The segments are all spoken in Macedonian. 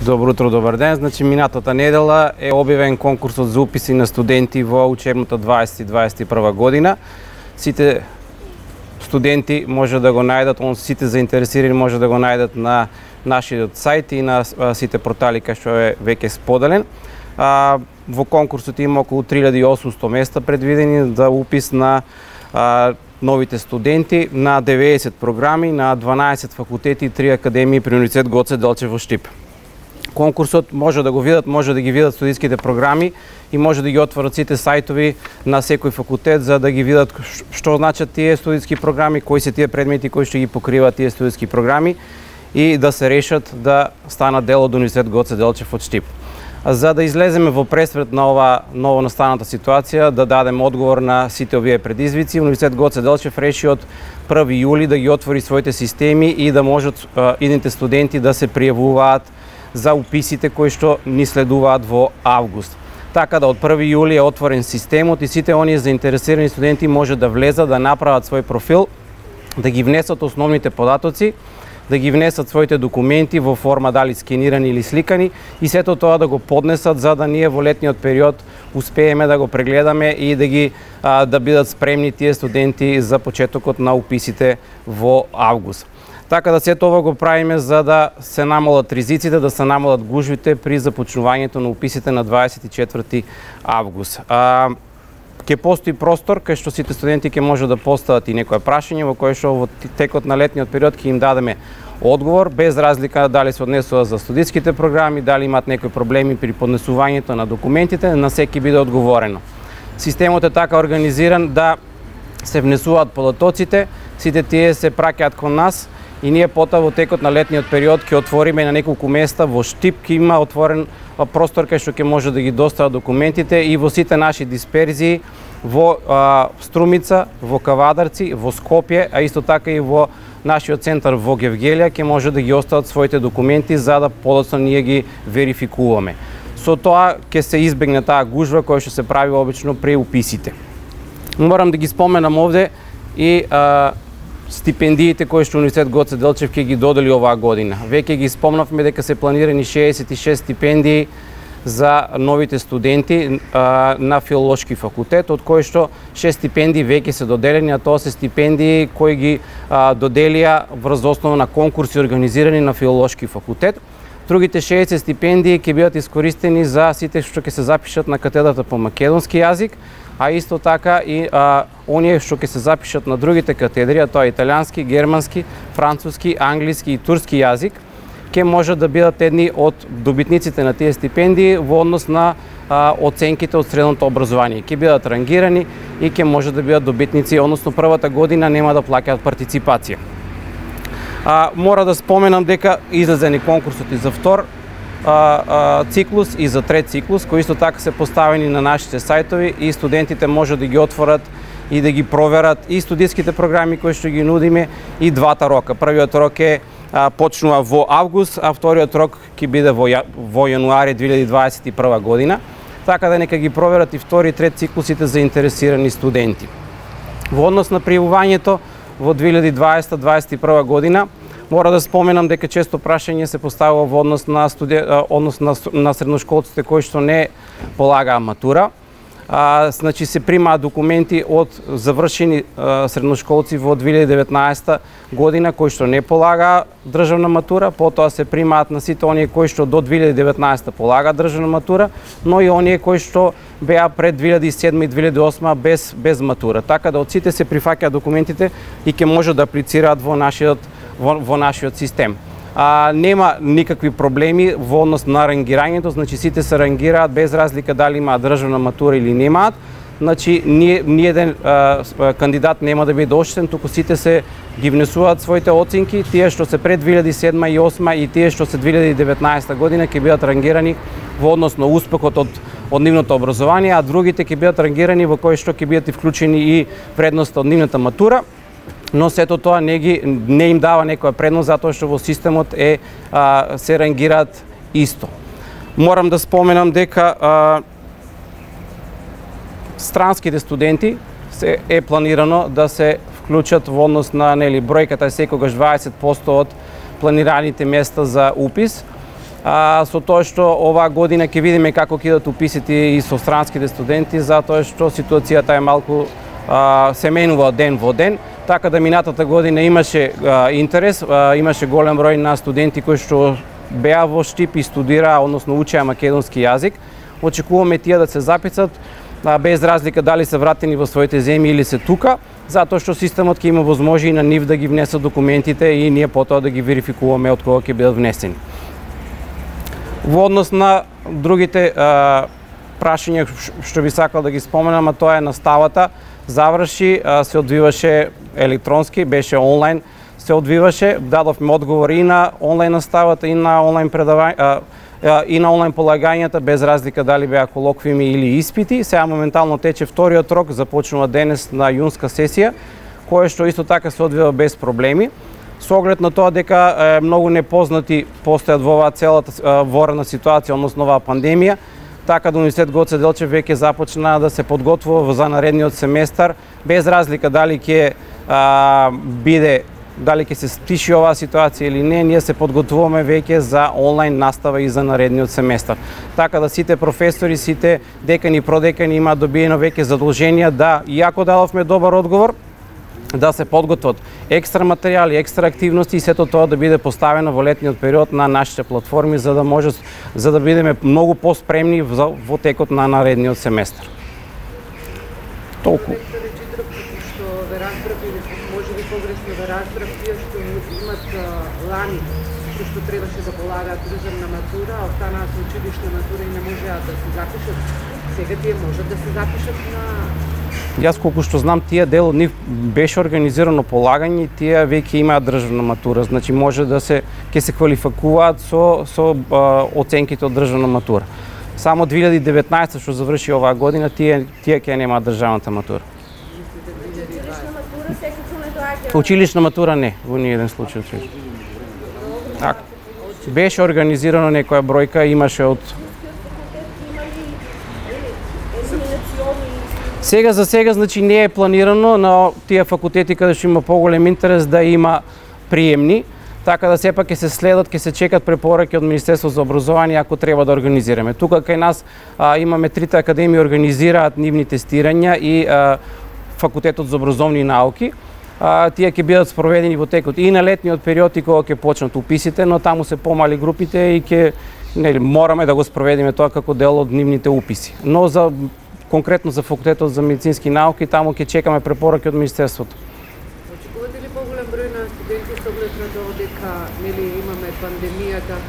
Добро утро, добар ден. Значи, минатата недела е објавен конкурсот за уписи на студенти во учебната 2021 година. Сите студенти може да го најдат, сите заинтересирани може да го најдат на нашиот сајт и на сите портали кај што е веќе споделен. Во конкурсот има околу 3800 места предвидени за упис на новите студенти на 90 програми на 12 факултети и 3 академии при Универзитет Гоце Делчев во Штип. Конкурсот може да го видат, може да ги видат студентските програми и може да ги отворат сите сајтови на секој факултет за да ги видат што значат тие студентски програми, кои се тие предмети кои што ги покриваат тие студентски програми и да се решат да станат дел од Универзитет Гоце Делчев од Штип. За да излеземе во пресвет на ова ново настаната ситуација, да дадеме одговор на сите овие предизвици, Универзитет Гоце Делчев реши од 1 јули да ги отвори своите системи и да можат идните студенти да се пријавуваат за уписите кои што ни следуваат во август. Така да од 1 јули е отворен системот и сите оние заинтересирани студенти може да влезат, да направат свој профил, да ги внесат основните податоци, да ги внесат своите документи во форма дали скенирани или сликани и сето тоа да го поднесат за да ние во летниот период успееме да го прегледаме и да бидат спремни тие студенти за почетокот на уписите во август. Така да сето ова го правиме за да се намалат ризиците, да се намалат гужвите при започнувањето на уписите на 24 август. Ќе постои простор кај што сите студенти ќе може да постават и некое прашање во кое што во текот на летниот период ќе им дадеме одговор без разлика дали се однесува за студиските програми, дали имаат некои проблеми при поднесувањето на документите, на секи биде одговорено. Системот е така организиран да се внесуваат податоците, сите тие се праќаат кон нас и ние потоа во текот на летниот период ќе отвориме на неколку места во Штип, ќе има отворен простор кај што ќе може да ги достават документите и во сите наши дисперзии во Струмица, во Кавадарци, во Скопје, а исто така и во нашиот центар во Гевгелија ќе може да ги остават своите документи за да подоцна ние ги верификуваме. Со тоа ќе се избегне таа гужва која што се прави обично при уписите. Морам да ги споменам овде и стипендиите кои што Универзитет Гоце Делчев ќе ги додели оваа година. Веќе ги спомнавме дека се планирани 66 стипендии за новите студенти на Филолошки факултет, од кои што 6 стипендии веќе се доделени, а тоа се стипендии кои ги доделија врз основа на конкурси организирани на Филолошки факултет. Другите 60 стипендии ќе бидат искористени за сите што ќе се запишат на катедрата по македонски јазик, а исто така и оние што ќе се запишат на другите катедри, а тоа е италијански, германски, француски, англиски и турски јазик, ќе може да бидат едни од добитниците на тие стипендии во однос на оценките од средното образование. Ќе бидат рангирани и ќе може да бидат добитници, односно првата година нема да плаќаат партиципација. Мора да споменам дека излезени конкурсот и за втор циклус и за трет циклус, кои исто така се поставени на нашите сајтови и студентите може да ги отворат и да ги проверат и студиските програми кои што ги нудиме и двата рока. Првиот рок почнува во август, а вториот рок ќе биде во јануари 2021 година. Така да нека ги проверат и втори и трет циклусите заинтересирани студенти. Во однос на пријавувањето во 2020-2021 година, мора да споменам дека често прашање се поставува во однос на средношколците кои што не полагаа матура. Значи се примаат документи од завршени средношколци во 2019 година кои што не полагаа државна матура, потоа се примаат на сите оние кои што до 2019 полагаат државна матура, но и оние кои што беа пред 2007 и 2008 без матура. Така да од сите се прифаќаат документите и ќе може да аплицираат во нашиот систем. Нема никакви проблеми во однос на рангирањето, значи сите се рангираат без разлика дали имаат државна матура или немаат. Значи ниеден кандидат нема да биде оштетен, туку сите се ги внесуваат своите оценки, тие што се пред 2007 и 2008 и тие што се 2019 година ќе бидат рангирани во однос на успехот од нивното образование, а другите ќе бидат рангирани во кои што ќе бидат и вклучени и вредноста од нивната матура. Но сето тоа не им дава некоја предност затоа што во системот се рангираат исто. Морам да споменам дека странските студенти е планирано да се вклучат во однос на бројката е секогаш 20% од планираните места за упис. со тоа што оваа година ќе видиме како ќе идат уписите и со странските студенти, затоа што ситуацијата е малку се менува од ден во ден, така да минатата година имаше интерес, имаше голем број на студенти кои што беа во Штип и студираа, односно учеа македонски јазик. Очекуваме тие да се запишат без разлика дали се вратени во своите земји или се тука, затоа што системот ќе има возможи и на нив да ги внесат документите и ние потоа да ги верификуваме од кога ќе бидат внесени. Во однос на другите прашања што би сакал да ги споменам, а тоа е наставата, заврши, се одвиваше електронски, беше онлайн, се одвиваше, дадовме одговори и на онлайн наставата и на онлайн и на онлайн полагањата, без разлика дали беа колоквиуми или испити. Сега моментално тече вториот рок, започнува денес на јунска сесија, кое што исто така се одвива без проблеми. Со оглед на тоа дека многу непознати постојат во оваа целата ворена ситуација, односно оваа пандемија, така да Универзитет Гоце Делчев веќе започна да се подготвува за наредниот семестар, без разлика дали ќе дали ќе се стиши оваа ситуација или не, ние се подготвуваме веќе за онлайн настава и за наредниот семестар. Така да сите професори, сите декани и продекани имаат добиено веќе задолженија да, иако дадовме добар одговор, да се подготват екстра материјали, екстра активности и сето тоа да биде поставено во летниот период на нашите платформи за да бидеме многу поспремни во текот на наредниот семестар. Толку. Погрешно ве разбрав, тие што имат лани, што требаше да полагаат државна матура, а останаа со училишна матура и не можеа да се запишат. Сега тие можат да се запишат на... Јас колку што знам, тие дел од нив беше организирано полагање и тие веќе имаат државна матура, значи може да ќе се квалификуваат со оценките од државна матура. Само 2019 што заврши оваа година, тие ќе немаат државната матура. Училишна матура не, во ниеден случај. Беше организирано некоја бројка, имаше од... За сега, значи, не е планирано на тие факултети каде што има поголем интерес да има приемни, така да сепак ќе се следат, ќе се чекат препораки од Министерство за образование ако треба да организираме. Тука кај нас имаме трите академии организираат нивни тестирања и Факултетот за образовни науки. Тие ќе бидат спроведени во текот и на летниот период и кога ќе почнат уписите, но таму се помали групите и ќе мораме да го спроведиме тоа како дел од нивните уписи. Но конкретно за Факултетот за медицински науки, таму ќе чекаме препораки од Министерството. Очекувате ли поголем број на студенти со оглед на тоа дека имаме пандемијата,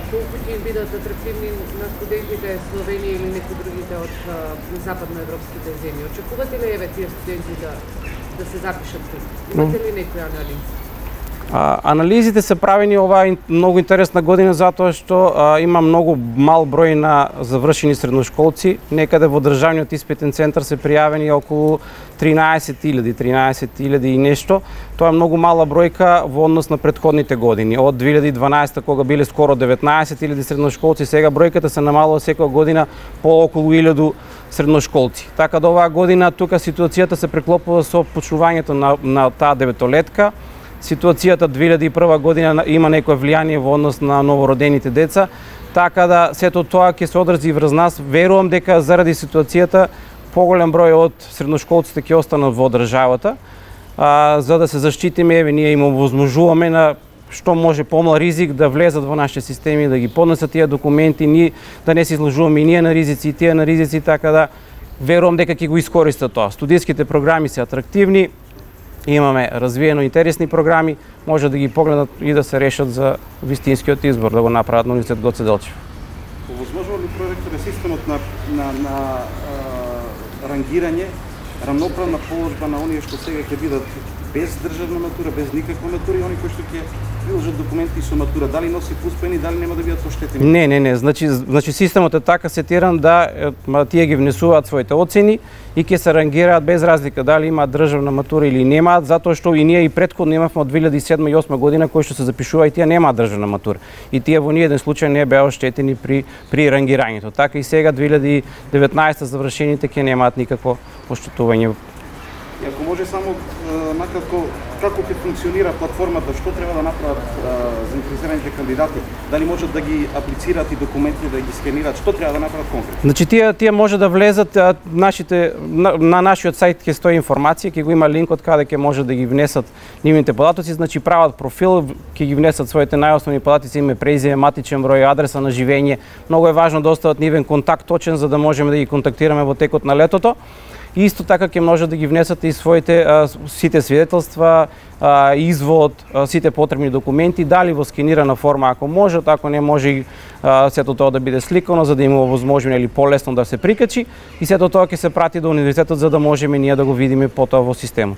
колку ќе им бидат атрактивни на студентите Словенија или некои другите од западноевропските земји? Очекувате ли тие студенти да се запишат тук? Имате ли некои анализи? Анализите се правени оваа многу интересна година затоа што има многу мал број на завршени средношколци. Некаде во државниот испитен центар се пријавени околу 13.000 и нешто. Тоа е многу мала бројка во однос на претходните години. Од 2012 кога биле скоро 19.000 средношколци, сега бројката се намалува секоја година по околу 1.000 средношколци. Така да оваа година тука ситуацијата се преклопува со почнувањето на таа деветолетка. Ситуацијата 2001 година има некое влијание во однос на новородените деца, така да сето тоа ќе се одрази врз нас. Верувам дека заради ситуацијата поголем број од средношколците ќе останат во државата, за да се заштитиме, ние им овозможуваме на што може помал ризик да влезат во нашите системи, да ги поднесат тие документи, да не се изложуваме и ние на ризици, и тие на ризици, така да верувам дека ќе го искористат тоа. Студијските програми се атрактивни, имаме развиено интересни програми, може да ги погледнат и да се решат за вистинскиот избор, да го направат на Универзитет Гоце Делчев. Овозможува ли проректоре системот на рангирање, рамноправна положба на оние што сега ќе бидат без државна матура, без никаква матура и они кои што ќе приложат документи со матура, дали носи успени, дали нема да бидат оштетени? Не, значи системот е така сетиран да тие ги внесуваат своите оцени и ќе се рангираат без разлика дали имаат државна матура или немаат, затоа што и ние и претходно имавме од 2007 и 2008 година кои што се запишува и тие немаат државна матура. И тие во ниеден случај не беа оштетени при рангирањето. Така и сега 2019 завршените ќе немаат никакво оштетување И ако може само накратко како ќе функционира платформата, што треба да направат заинтересираните кандидати, дали можат да ги аплицираат и документи да ги скенираат, што треба да направат конкретно? Значи тие може да влезат на нашиот сајт ќе стои информација, ќе го има линкот каде ќе може да ги внесат нивните податоци, значи прават профил, ќе ги внесат своите најосновни податоци, име, презиме, матичен број, адреса на живење. Многу е важно да остават нивен контакт точен за да можеме да ги контактираме во текот на летото. И исто така ќе може да ги внесат и своите сите свидетелства, извод, сите потребни документи, дали во скенирана форма ако може, ако не може сето тоа да биде сликано за да има возможно или полесно да се прикачи и сето тоа ќе се прати до универзитетот за да можеме ние да го видиме потоа во системот.